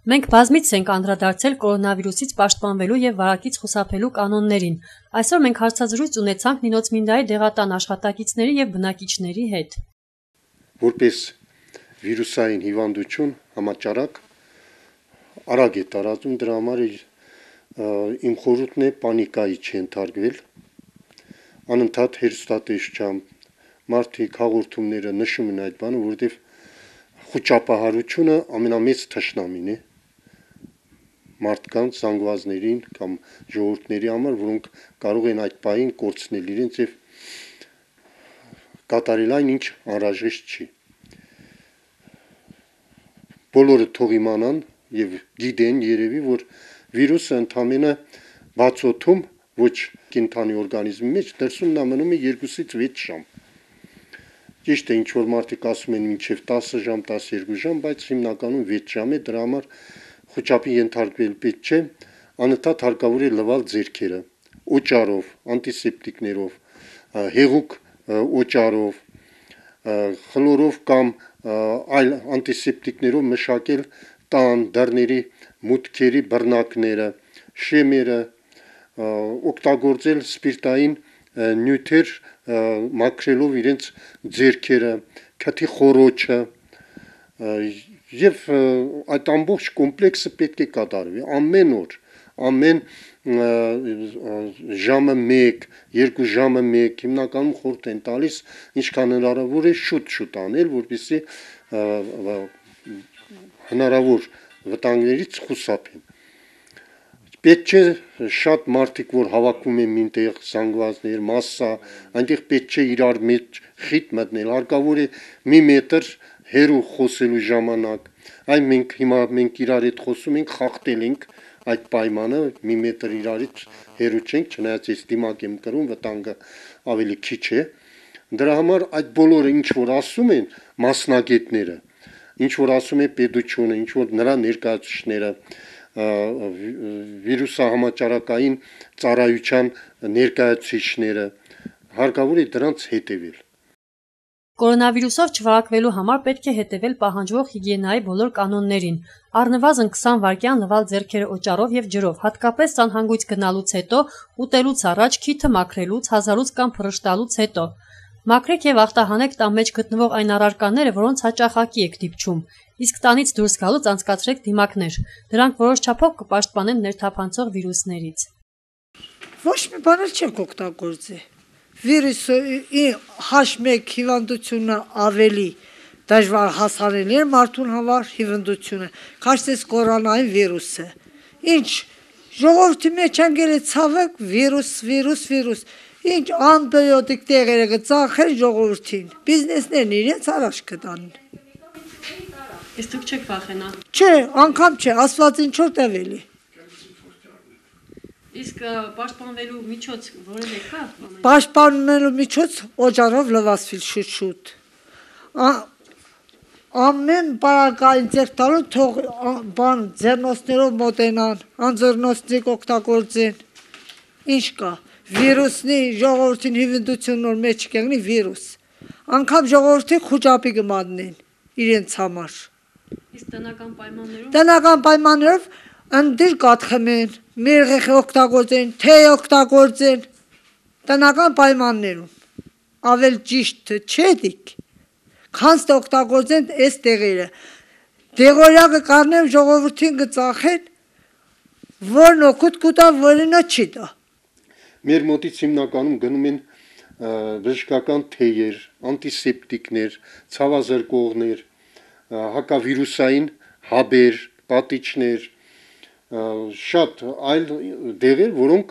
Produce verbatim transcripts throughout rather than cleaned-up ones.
Մենք բազմից ենք անդրադարձել կորոնավիրուսից պաշտպանվելու եւ վարակից խուսափելու կանոններին։ Այսօր մենք հարցազրույց ունեցանք Նինոցմինդայի դեղատան աշխատակիցների եւ բնակիչների հետ։ Որպես վիրուսային հիվանդություն համաճարակ արագ է տարածում, դրա համար իմ խորհուրդն է պանիկայի չընթարկվել, անընդհատ հեռուստատեսությամբ մարդիկ հաղորդումները նշում են այդ բանը, որովհետեւ խոճապահարությունը ամենամեծ թշնամին է մարդկանց, զանգվածներին կամ ժողովուրդների համար, որոնք կարող են այդ պահին կորցնել իրենց եւ կատարել այն, ինչ անհրաժեշտ չի։ Բոլորը թող իմանան եւ գիտեն երևի, որ վիրուսը ընդամենը բացօթում ոչ կենդանի օրգանիզմի մեջ դրսում նա մնում է երկուսից վեց ժամ։ Ճիշտ է, ինչ որ մարդիկ ասում են մինչև տասը ժամ, տասներկու ժամ, բայց հիմնականում վեց ժամ է, դրա համար խոճապի ենթարկվել պետք չէ, անընդհատ հարկավոր է լվալ ձեռքերը օճառով, անտիսեպտիկներով, հեղուկ օճառով, խլորով կամ այլ անտիսեպտիկներով մշակել տան, դռների, մուտքերի բռնակները, շեմերը, օգտագործել սպիրտային նյութեր մաքրելով իրենց ձեռքերը, քթի խոռոչը եւ այդ ամբողջ կոմպլեքսը պետք է կատարվի ամեն օր, ամեն ժամը մեկ, երկու ժամը մեկ, հիմնականում խորհուրդ են տալիս, ինչքան հնարավոր է շուտ-շուտ անել, որպեսզի հնարավոր վտանգներից խուսափեն։ Պետք չէ շատ մարդիկ, որ հավաքում են մինտեղ զանգվածներ, մասսա, այնտեղ պետք չէ իրար մեջ խիտ մտնել, հարկավոր է մի մետր հեռու խոսելու ժամանակ, այն մենք հիմա մենք իրար հետ խոսում ենք, խախտել ենք այդ պայմանը, մի մետր իրարից հեռու չենք, չնայած ես դիմակ եմ կրում, վտանգը ավելի քիչ է։ Դրա համար այդ բոլորը ինչ որ ասում են մասնագետները, ինչ որ ասում է պետությունը, ինչ որ նրա ներկայացուցիչները, վիրուսահամաճարակային ծառայության ներկայացուցիչները, հարկավոր է դրանց հետևել։ Կորոնավիրուսով չվարակվելու համար պետք է հետևել պահանջվող հիգիենայի բոլոր կանոններին, առնվազն քսան վայրկյան լվալ ձեռքերը օճառով եւ ջրով, հատկապես սանհանգույց գնալուց հետո, ուտելուց առաջ, քիթը մաքրելուց, հազարուց կամ փռշտալուց հետո։ Մաքրեք եւ ախտահանեք տան մեջ գտնվող այն առարկաները, որոնց հաճախակի եք դիպչում, իսկ տանից դուրս գալուց անցկացրեք դիմակներ, դրանք որոշ չափով կպաշտպանեն ներթափանցող վիրուսներից։ Ոչ մի բան չեք օգտագործի։ Վիրուսը H մեկ հիվանդությունը ավելի դժվար հասանելի է մարդուն համար հիվանդությունը, քաշտես կորոնային վիրուսը։ Ինչ ժողովրդի մեջ անգել է ցավոք վիրուս, վիրուս, վիրուս։ Ինչ անտիբիոտիկ տեղերը կծախեն ժողովրդին։ Բիզնեսներն իրենց առաջ կտանեն։ Իսկ դուք չեք վախենա։ Չէ, անգամ չէ, ասված ինչ որ տևելի։ Իսկ պաշտպանվելու միջոց որևէ կա։ Պաշտպանվելու միջոց օճառով լվացվի շուտ-շուտ։ Ամեն բարակային ձեռք տալու թող բան ձեռնոցներով մոտենան, անձեռնոցնիկ օգտագործեն։ Ինչ կա։ Վիրուսնի ժողովրդին հիվանդություն նոր մեջ կգնի վիրուս։ Անկամ ժողովրդի խոճապի կմատնեն իրենց համար։ Իսկ տնական պայմաններում Տնական պայմաններով ընդդիր կաթխմեն, մերղեխ օգտագործեն, թեյ օգտագործեն, տնական պայմաններում, ավել ճիշտ չէ դիք, քանց օգտագործեն այս տեղերը, դեղորյակը կարնեմ ժողովրդին կծախեն, որն օգուտ կուտա, որինը չի տա։ Մեր մոտից հիմնականում գնում են բժշկական թեյեր, անտիսեպտիկներ, ցավազրկողներ, հակավիրուսային հաբեր, պատիճներ, շատ այլ դեղեր, որոնք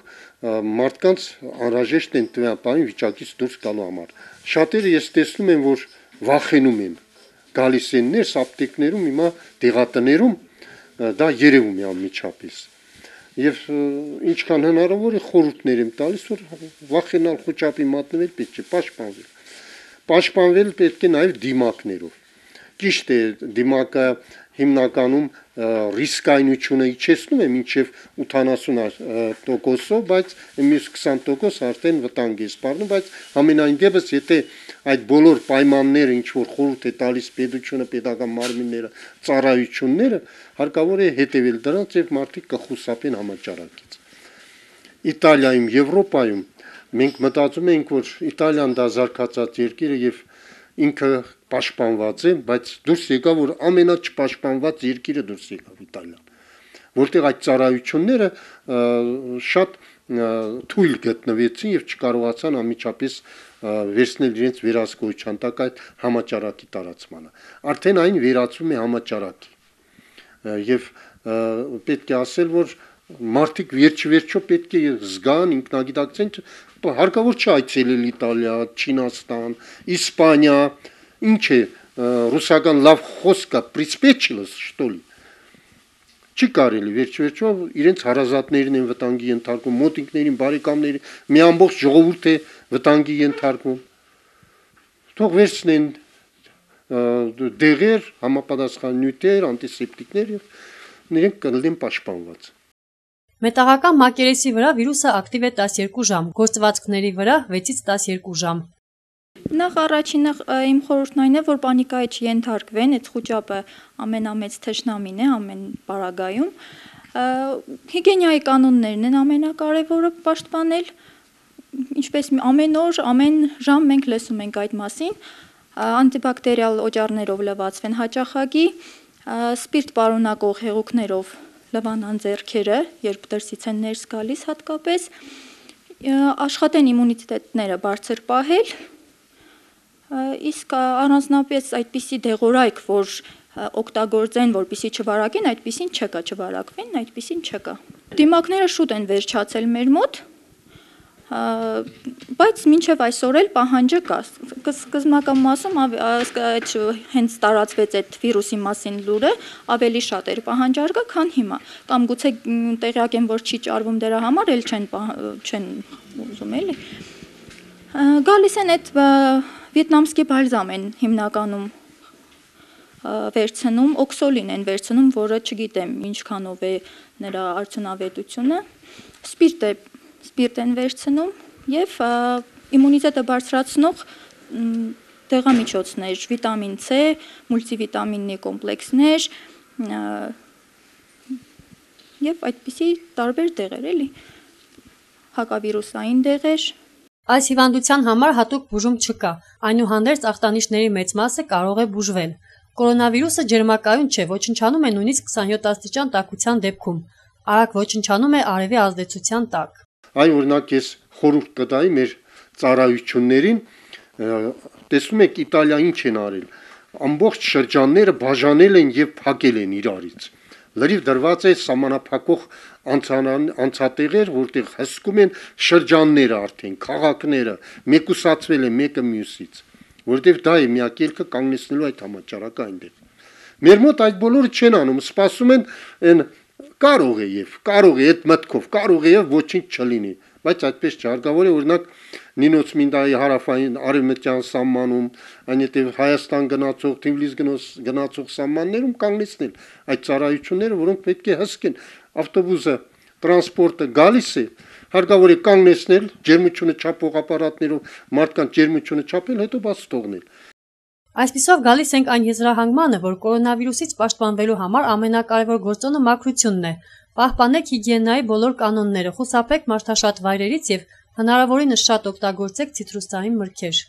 մարդկանց անհրաժեշտ են տնապային վիճակից դուրս գալու համար։ Շատերը ես տեսնում եմ, որ վախենում են, գալիս են ներս ապտեկներում, հիմա դեղատներում դա երևում է անմիջապես։ Եվ ինչքան հնարավոր է խորհուրդներ եմ տալիս, որ վախենալ խոճապի մատնվել պետք չէ, պաշտպանվել։ Պաշտպանվել պետք է նաև դիմակներով։ Ճիշտ է, դիմակը հիմնականում ռիսկայնությունը իջեցնում է մինչև ութանասուն տոկոսով, բայց մյուս քսան տոկոս արդեն վտանգ է սպառնում, բայց ամենայն դեպս եթե այդ բոլոր պայմանները ինչ որ խորհուրդ է տալիս պետությունը, պետական մարմինները, ծառայությունները, հարկավոր է հետևել դրանց եւ մարդիկ կխուսափեն համաճարակից։ Իտալիայում, Եվրոպայում մենք մտածում ենք, որ Իտալիան դա զարգացած երկիր է եւ ինքը պաշտպանված է, բայց դուրս եկավ, որ ամենաչպաշտպանված երկիրը դուրս եկավ Իտալիան, որտեղ այդ ծառայությունները շատ թույլ գտնվեցին եւ չկարողացան անմիջապես վերցնել իրենց վերահսկողության տակ այդ համաճարակի տարածմանը։ Արդեն այն վերածվում է համաճարակի։ Եվ պետք է ասել, որ մարդիկ վերջ-վերջո պետք է զգան, ինքնագիտակցեն, հարկավոր չէ այցելել Իտալիա, Չինաստան, Իսպանիա, ինչ է ռուսական լավ խոսքը «приспичилось», что ли։ Չի կարելի, վերջ-վերջո իրենց հարազատներին են վտանգի ենթարկում, մոտիկներին, բարեկամներին, մի ամբողջ ժողովուրդ է վտանգի ենթարկում։ Թող վերցնեն դեղեր, համապատասխան նյութեր, անտիսեպտիկներ եւ իրենք կլինեն պաշտպանված։ Մետաղական մակերեսի վրա վիրուսը ակտիվ է տասներկու ժամ, գործվածքների վրա վեցից տասներկու ժամ։ Նախ առաջինը իմ խորհուրդն այն է, որ պանիկայի չենթարկվեն, այդ խուճապը ամենամեծ թշնամին է ամեն պարագայում։ Հիգիենայի կանոններն են ամենակարևորը պաշտպանել, ինչպես ամեն օր, ամեն ժամ մենք լսում ենք այդ մասին, անտիբակտերիալ օճառներով լվացվեն հաճախակի, սպիրտ պարունակող հեղուկներով լվանան ձեռքերը, երբ դրսից են ներս գալիս հատկապես, աշխատեն իմունիտետները բարձր պահել, իսկ առանձնապես այդպիսի դեղորայք, որ օգտագործեն, որպեսզի չվարակեն, այդպիսին չկա, չվարակվեն, այդպիսին չկա։ Դիմակները շուտ են վերջացել մեր մոտ, բայց մինչև այսօր էլ պահանջը կա։ Սկզբնական մասում հենց տարածվեց այդ վիրուսի մասին լուրը, ավելի շատ էր պահանջարկը, քան հիմա։ Կամ գուցե տեղյակ են, որ չի ճարվում դրա համար, էլ չեն չեն ուզում էլի։ Գալիս են այդ վիետնամսկի բալզամ են հիմնականում վերցնում, օքսոլին են վերցնում, որը չգիտեմ ինչքանով է նրա արդյունավետությունը, սպիրտ է սպիրտ են վերցնում եւ իմունիտետը բարձրացնող դեղամիջոցներ, վիտամին C, մուլտիվիտամինի կոմպլեքսներ եւ այդպիսի տարբեր դեղեր էլի, հակավիրուսային դեղեր։ Այս հիվանդության համար հատուկ բուժում չկա, այնուհանդերձ ախտանիշների մեծ մասը կարող է բուժվել։ Կորոնավիրուսը ջերմակայուն չէ, ոչնչանում է նույնիսկ քսանյոթ աստիճան տաքության դեպքում, արագ ոչնչանում է արևի ազդեցության տակ։ Այ օրինակ ես խորհուրդ կտայի մեր ծառայություններին, տեսնում եք Իտալիա ինչ են արել, ամբողջ շրջանները բաժանել են եւ փակել են իրարից։ Լրիվ դրված է սահմանափակող անցատեղեր, որտեղ հսկում են շրջանները արդեն, քաղաքները, մեկուսացվել է մեկը մյուսից, որտեղ դա է միակ ելքը կանգնեցնելու այդ համաճարակը այնտեղ։ Մեր մոտ այդ բոլորը չեն անում, սպասում են այն կարող է եւ կարող է այդ մտքով, կարող է եւ ոչինչ չլինի, բայց այդպես չէ, հարկավոր է օրինակ Նինոց Մինդայի հարավային արևմտյան սահմանում, այնտեղ Հայաստան գնացող, Թիֆլիս գնացող սահմաններում կանգնեցնել այդ ծառայությունները, որոնք պետք է հսկեն, ավտոբուսը, տրանսպորտը գալիս է, հարկավոր է կանգնեցնել, ջերմությունը չափող ապարատներով մարդկանց ջերմությունը չափել, հետո բաց թողնել։ Այսպիսով գալիս ենք այն եզրահանգմանը, որ կորոնավիրուսից պաշտպանվելու համար ամենակարևոր գործոնը մաքրությունն է։ Պահպանեք հիգիենայի բոլոր կանոնները, խուսափեք մարդաշատ վայրերից եւ հնարավորինս շատ օգտագործեք ցիտրուսային մրգեր։